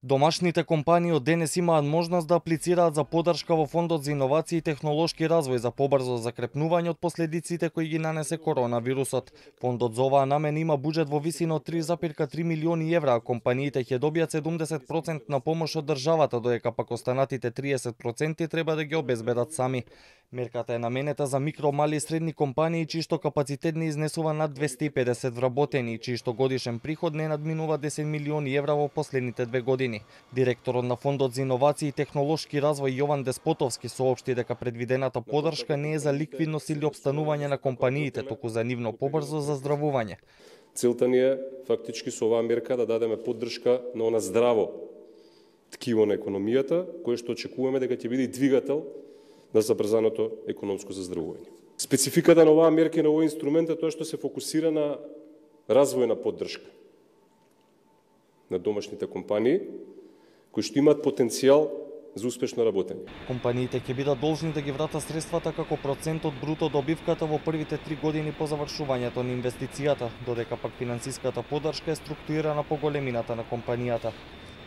Домашните компании од денес имаат можност да аплицираат за поддршка во Фондот за иновации и технолошки развој за побрзо закрепнување од последиците кои ги нанесе коронавирусот. Фондот за оваа намена има буџет во висина од 3,3 милиони евра, а компаниите ќе добијат 70% на помош од државата, додека пак останатите 30% треба да ги обезбедат сами. Мерката е наменета за микро, мали и средни компании чиј што капацитет не изнесува над 250 вработени и чиј што годишен приход не надминува 10 милиони евра во последните 2 години. Директорот на Фондот за иновации и технолошки развој Јован Деспотовски соопшти дека предвидената поддршка не е за ликвидност или опстанување на компаниите, туку за нивно побрзо заздравување. Целта ни е фактички со оваа мерка да дадеме поддршка на она здраво ткиво на економијата, кое што очекуваме дека ќе биде двигател на забрзаното економско заздравување. Спецификата на оваа мерка и на овој инструмент е тоа што се фокусира на развојна поддршка на домашните компании кои што имаат потенцијал за успешно работење. Компаниите ќе бидат должни да ги вратат средствата како процент од бруто добивката во првите 3 години по завршувањето на инвестицијата, додека пак финансиската поддршка е структурирана по големината на компанијата.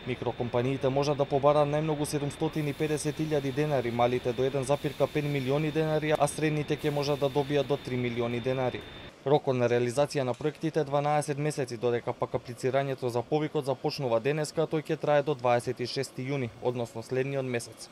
Микрокомпаниите можат да побараат најмногу 750.000 денари, малите до 1,5 милиони денари, а средните ќе можат да добијат до 3 милиони денари. Рокот на реализација на проектите е 12 месеци, додека пак аплицирањето за повикот започнува денеска, а тој ќе трае до 26 јуни, односно следниот месец.